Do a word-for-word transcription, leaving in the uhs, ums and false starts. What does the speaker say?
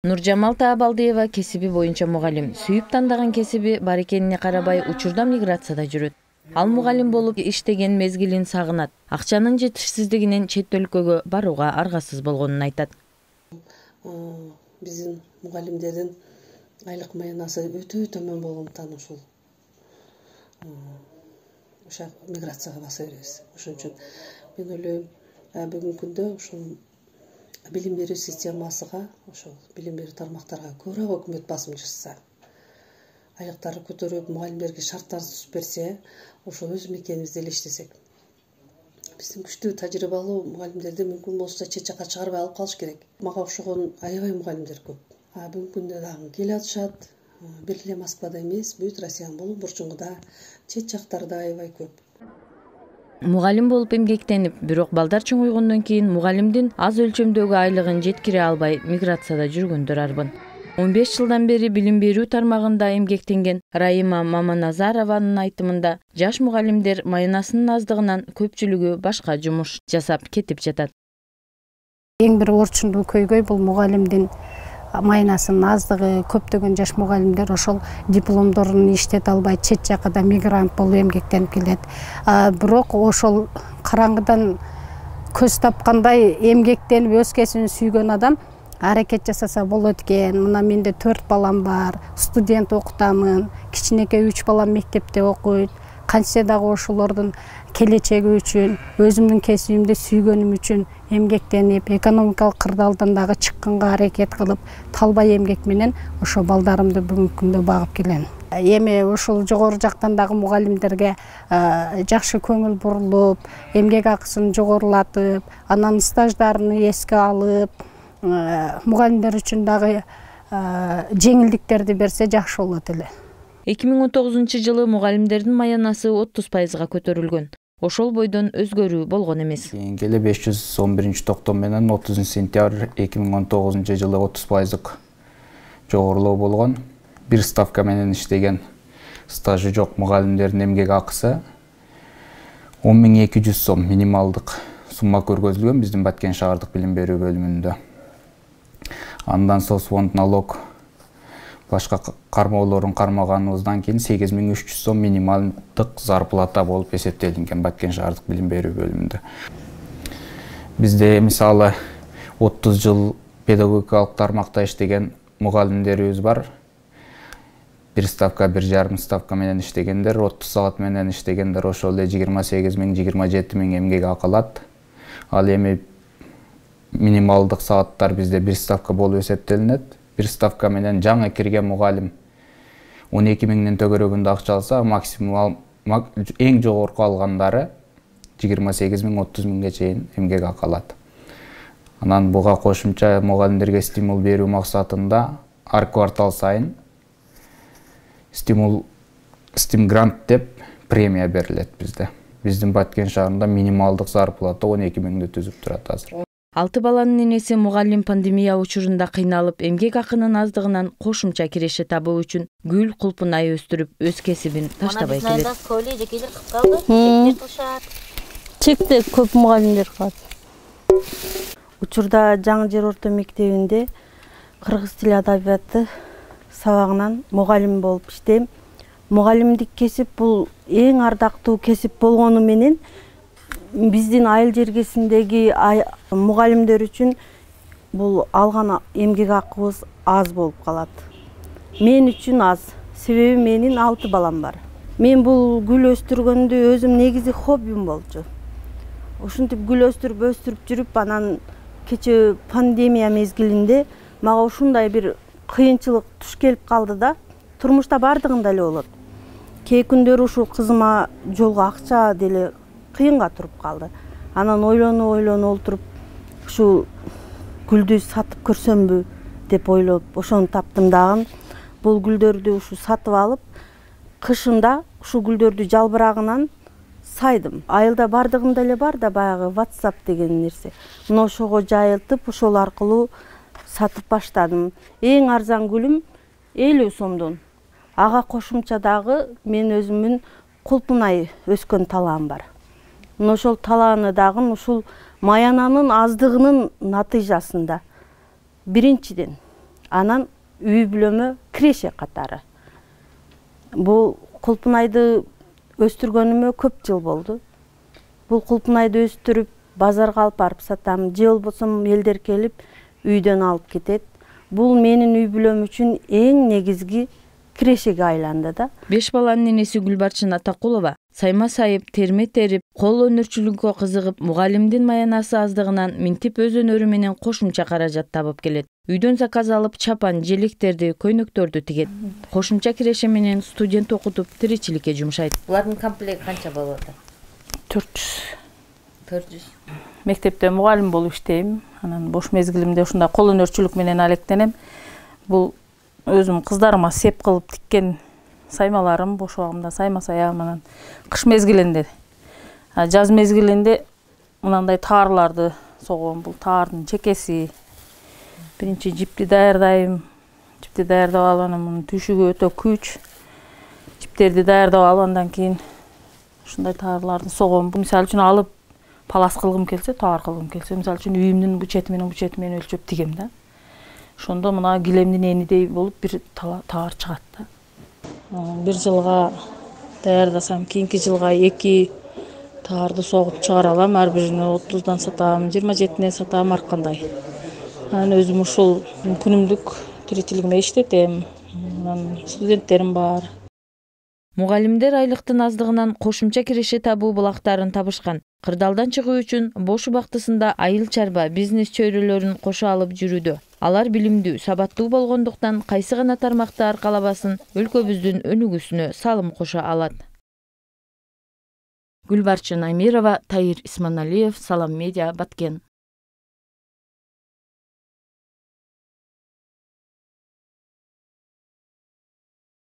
Нуржамал Таабалдиева кесиби боюнча мугалим. Сүйүп тандаган кесиби бар экенине карабай учурда миграцияда жүрөт. Ал мугалим болуп иштеген мезгилин сагынат. Акчанын жетишсиздигинен чет өлкөгө барууга аргасыз болгонун айтат. Биздин мугалимдердин айлык маянасы өтө төмөн болгондуктан ушул ошо миграцияга баса беребиз. Ошон үчүн мен ойлойм, бүгүнкү күндө ушул билим берүү системасыга, ошол билим берүү тармактарга көбүрөөк өкмөт басым жасаса, айлыктарды көтөрүп, мугалимдерге шарттарды түзүп берсе, ошол өз мекенибизде эле иштесек. Биздин күчтүү тажрыйбалуу мугалимдерди мүмкүн болсо чет жакка чыгарбай алып калыш керек. Мага окшогон аябай мугалимдер көп. А бүгүнкү күндө дагы келе атышат. Бир эле Москвада эмес, бүт Россиянын болуң бурчуңда, чет жактарда аябай көп. Мугалим болуп эмгектенип, бирок балдар чоңойгондон кийин мугалимдин аз өлчөмдөгү айлыгын жеткире албай миграцияда жүргөндөр арбын. он беш жылдан бери билим берүү тармагында эмгектенген Раима Маманазарованын айтымында, жаш мугалимдер маянасынын аздыгынан көпчүлүгү башка жумуш жасап кетип жатат. Эң бир орчундуу көйгөй бул мугалимдин маянасынын аздыгы. Көптөгөн жаш мугалимдер ошол дипломдорун иштете албай чет жакка мигрант болуп эмгектенип келет. Бирок ошол караңгыдан көз тапкандай эмгектенип өз кесибин сүйгөн адам аракет жасаса болот экен. Мына менде төрт балам бар, студент окутамын, кичинекей үч балам мектепте окуйт. Кантсе дагы ошолордун келечеги үчүн, өзүмдүн кесибимди сүйгөнүм үчүн эмгектенип, экономикалык кырдаалдан дагы чыкканга аракет кылып, талбай эмгек менен ошо балдарымды бүгүнкү күндө багып келем. Эми ушул жогору жактан дагы мугалимдерге жакшы көңүл бурулуп, эмгек акысын жогорулатып, анан стаждарын эске алып, мугалимдер үчүн дагы жеңилдиктерди берсе жакшы болот эле. эки миң он тогузунчу жылы мугалимдердин маянасы отуз пайызга көтөрүлгөн. Ошол бойдон өзгөрүү болгон эмес. Кийинки эле беш жүз он биринчи токтом менен отузунчу сентябрь эки миң он тогузунчу жылы отуз пайыздык жогорулоо болгон. Бир ставка менен иштеген стажы жок мугалимдердин эмгек акысы он миң эки жүз сом минималдык сумма көргөзүлгөн биздин Баткен шаардык билим берүү бөлүмүндө. Андан соцфонд налог башка кармоолорун кармаганыбыздан кийин сегиз миң үч жүз сом минималдык зарплата болуп эсептелинген Баткен шаардык билим берүү бөлүмүндө. Бизде мисалы отуз жыл педагогикалык тармакта иштеген мугалимдерибиз бар. Бир ставка, бир жарым ставка менен иштегендер, отуз саат менен иштегендер ошол эле жыйырма сегиз миң, жыйырма жети миң эмгек акы алат. Ал эми минималдык сааттар бизде бир ставка болуп эсептелинет. Бир ставка менен жаңы кирген мугалим он эки миңден төгөрөгүндө акча алса, максимум эң жогорку алгандары жыйырма сегиз миң, отуз миңге чейин эмгек акы алат. Анан буга кошумча мугалимдерге стимул берүү максатында ар квартал сайын стимул стимгрант деп премия берилет бизде. Биздин Баткен шаарында минималдык зарплата он эки миңди түзүп турат азыр. Алты баланын энеси мугалим пандемия учурунда кыйналып, эмгек акынын аздыгынан кошумча киреше табуу үчүн гүл кулпунай өстүрүп, өз кесибин таштабай келет. Чекте көп мугалимдер калат. Учурда Жаңы Жер орто мектебинде кыргыз тили адабияты сабагынан мугалим болуп иштейм. Мугалимдик кесип бул эң ардактуу кесип болгону менен биздин айыл жергесиндеги мугалимдер үчүн бул алган эмгек акыбыз аз болуп калат. Мен үчүн аз, себеби менин алты балам бар. Мен бул гүл өстүргөндү өзүм негизи хоббим болчу. Ушинтип гүл өстүрүп өстүрүп жүрүп, анан кече пандемия мезгилинде мага ушундай бир кыйынчылык туш келип калды да, турмушта бардыгында эле болот. Кээ күндөрү ушул кызыма жолго акча деле кыйынга туруп калды. Анан ойлону ойлону олтуруп, ушул гүлдү сатып көрсөмбү деп ойлоп, ошону таптым дагы. Бул гүлдөрдү ушу сатып алып, кышында ушул гүлдөрдү жалбырагынан сайдым. Айылда бардыгында эле бар да баягы WhatsApp деген нерсе. Мына ошого жайылтып, ошол аркылуу сатып баштадым. Эң арзан гүлүм элүү сомдон. Ага кошумча дагы мен өзүмүн кулпунай өскөн талаам бар. Мына ошол талааны дагы ушул маянанын аздыгынын натыйжасында. Биринчиден, анан үй бүлөмө киреше катары. Бул кулпунайды өстүргөнүмө көп жыл болду. Бул кулпунайды өстүрүп базарга алып барып сатам, же болбосо элдер келип үйдөн алып кетет. Бул менин үй бүлөм үчүн эң негизги кирешеге айланды да. Беш баланын энеси Гүлбарчын Атакулова сайма сайып, терме терип, кол өнөрчүлүккө кызыгып, мугалимдин маянасы аздыгынан минтип өз өнөрү менен кошумча каражат табып келет. Үйдөн заказ алып, чапан, желектерди, көйнөктөрдү тигет. Кошумча киреше менен студент окутуп, тиричиликке жумшайт. Булардын комплекти канча болот? төрт жүз. төрт жүз. Мектепте мугалим болуп иштейм. Анан бош мезгилимде ушундай кол өнөрчүлүк менен алектенем. Бул өзүм кыздарыма сеп кылып тиккен саймаларым, бош убагымда сайма саям. Анан кыш мезгилинде, жаз мезгилинде мынандай таарларды согом. Бул таардын чекеси. Биринчи жипти даярдайм. Жипти даярдап алып, анан мунун түйшүгү өтө күч. Жиптерди даярдап алып, андан кийин ушундай таарларды согом. Мисалы үчүн алып палас кылгым келсе, таар кылгым келсе, мисалы үчүн үйүмдүн бу чети менен бу чети менен өлчөп тигем да. Ошондо мына килемдин энидей болуп бир таар чыгат да. Бир жылга даярдасам, кийинки жылга эки таарды согуп чыгара алам. Ар бирин отуздан сатам, жыйырма жетиден сатам, ар кандай. Анан өзүм ушул күнүмдүк тиричилигиме иштетем. Анан студенттерим бар. Мугалимдер айлыктын аздыгынан кошумча киреше табуу булактарын табышкан. Кырдаалдан чыгуу үчүн бош убактысында айыл чарба, бизнес чөйрөлөрүн кошо алып жүрүүдө. Алар билимдүү, сабаттуу болгондуктан кайсы гана тармакты аркалабасын өлкөбүздүн өнүгүүсүнө салым кошо алат. Гүлбарчын Амирова, Таир Исманалиев, Салам Медиа, Баткен.